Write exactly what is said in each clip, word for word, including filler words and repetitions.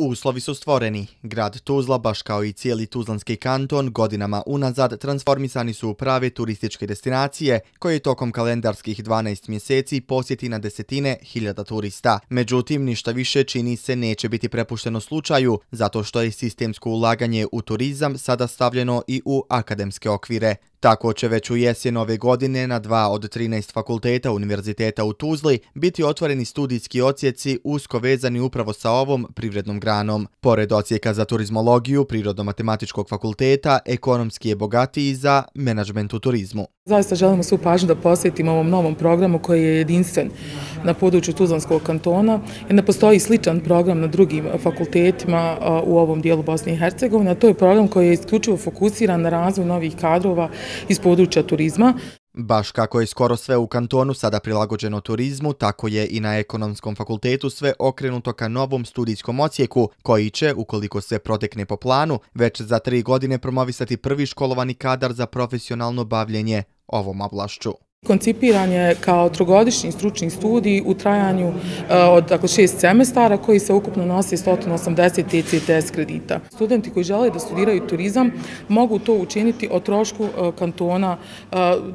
Uslovi su stvoreni. Grad Tuzla, baš kao i cijeli Tuzlanski kanton, godinama unazad transformisani su u prave turističke destinacije koje tokom kalendarskih dvanaest mjeseci posjeti na desetine hiljada turista. Međutim, ništa više čini se neće biti prepušteno slučaju, zato što je sistemsko ulaganje u turizam sada stavljeno i u akademske okvire. Tako će već u jesen ove godine na dva od trinaest fakulteta Univerziteta u Tuzli biti otvoreni studijski odsjeci usko vezani upravo sa ovom privrednom granom. Pored odsjeka za turizmologiju Prirodno-matematičkog fakulteta, ekonomski je bogatiji za menadžment u turizmu. Zaista želimo svu pažnju da posvetimo ovom novom programu koji je jedinstven na području Tuzlanskog kantona, jer ne postoji sličan program na drugim fakultetima u ovom dijelu Bosne i Hercegovine. To je program koji je isključivo fokusiran na razvoj novih kadrova iz područja turizma. Baš kako je skoro sve u kantonu sada prilagođeno turizmu, tako je i na Ekonomskom fakultetu sve okrenuto ka novom studijskom odsjeku, koji će, ukoliko se protekne po planu, već za tri godine promovisati prvi školovani kadar za profesionalno bavljenje ovom oblašću. Koncipiran je kao trogodišnji stručni studij u trajanju od dakle, šest semestara koji se ukupno nosi sto osamdeset E C T S kredita. Studenti koji žele da studiraju turizam mogu to učiniti o trošku kantona,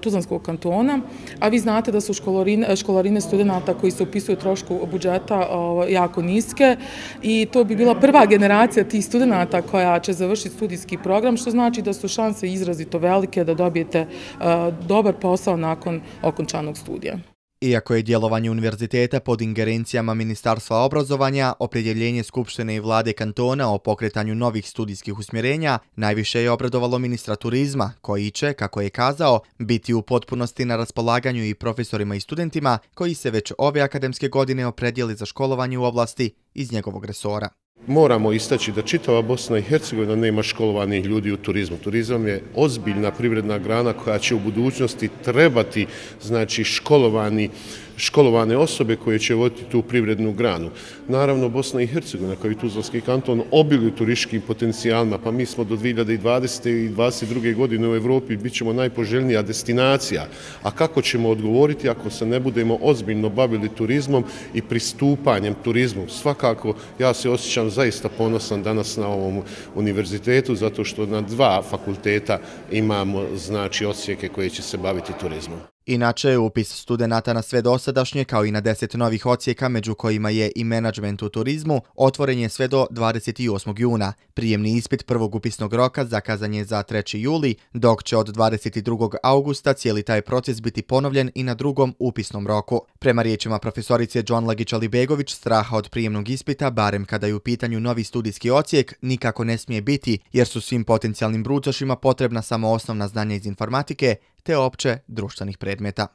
Tuzlanskog kantona, a vi znate da su školarine, školarine studenta koji se upisuju trošku budžeta jako niske i to bi bila prva generacija tih studenta koja će završiti studijski program, što znači da su šanse izrazito velike da dobijete dobar posao nakon okončanog studija. Iako je djelovanje univerziteta pod ingerencijama Ministarstva obrazovanja, opredjeljenje Skupštine i vlade kantona o pokretanju novih studijskih usmjerenja najviše je obradovalo ministra turizma, koji će, kako je kazao, biti u potpunosti na raspolaganju i profesorima i studentima koji se već ove akademske godine opredijeli za školovanje u oblasti iz njegovog resora. Moramo istaći da čitava Bosna i Hercegovina nema školovanih ljudi u turizmu. Turizam je ozbiljna privredna grana koja će u budućnosti trebati, znači, školovani školovane osobe koje će voditi tu privrednu granu. Naravno, Bosna i Hercegovina, kao i Tuzlanski kanton, obiluju turističkim potencijalima, pa mi smo do dvije hiljade dvadesete i dvadeset druge godine u Evropi bit ćemo najpoželjnija destinacija. A kako ćemo odgovoriti ako se ne budemo ozbiljno bavili turizmom i pristupanjem turizmu? Svakako, ja se osjećam zaista ponosan danas na ovom univerzitetu, zato što na dva fakulteta imamo, znači, odsjeke koje će se baviti turizmom. Inače, upis studenata na sve dosadašnje, kao i na deset novih odsjeka, među kojima je i menadžment u turizmu, otvoren je sve do dvadeset osmog juna. Prijemni ispit prvog upisnog roka zakazan je za treći juli, dok će od dvadeset drugog augusta cijeli taj proces biti ponovljen i na drugom upisnom roku. Prema riječima profesorice Džonlagić-Alibegović, straha od prijemnog ispita, barem kada je u pitanju novi studijski odsjek, nikako ne smije biti, jer su svim potencijalnim bruđašima potrebna samo osnovna znanja iz informatike te opće društvenih predmeta.